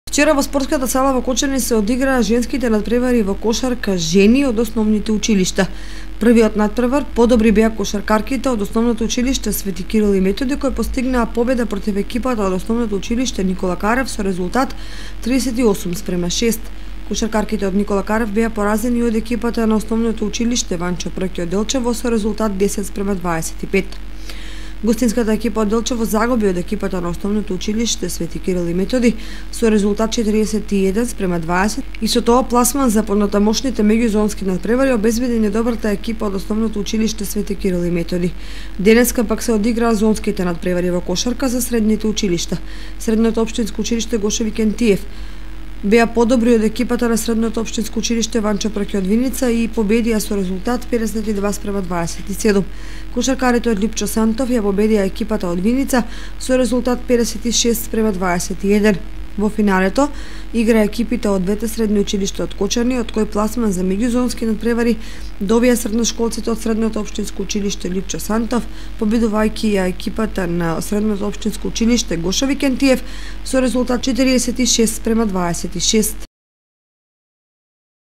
Вчера во спортската сала во Кочани се одиграа женските надпревари во кошарка жени од основните училишта. Првиот надпревар подобри беа кошаркарките од основното училиште Свети Кирил и Методи, кои постигнаа победа против екипата од основното училиште Никола Карев со резултат 38:6. Кошаркарките од Никола Карев беа поразени од екипата на основното училиште Ванчо Прки од Делчево со резултат 10:25. Гостинската екипа од Делчево загуби од екипата на основното училиште Свети Кирил и Методи со резултат 41:20 и со тоа пласман за понатамошните меѓузонски надпревари обезбеди недобрата екипа од основното училиште Свети Кирил и Методи. Денеска пак се одиграа зонските надпревари во кошарка за средните училишта. Средното општинско училиште Гошеви Кентиев беа подобри од екипата на средното општинско училиште Ванчо Прки од Виница и победија со резултат 52:27. Кошаркарите од Липчо Сантов ја победија екипата од Виница со резултат 56:21. Во финалето игра екипите од двете средни училишта од Кочани, од кој пласман за меѓузонски надпревари добија средношколците од средното општинско училиште Липчо Сантов, победувајќи ја екипата на средното општинско училиште Гошеви Кентиев со резултат 46:26.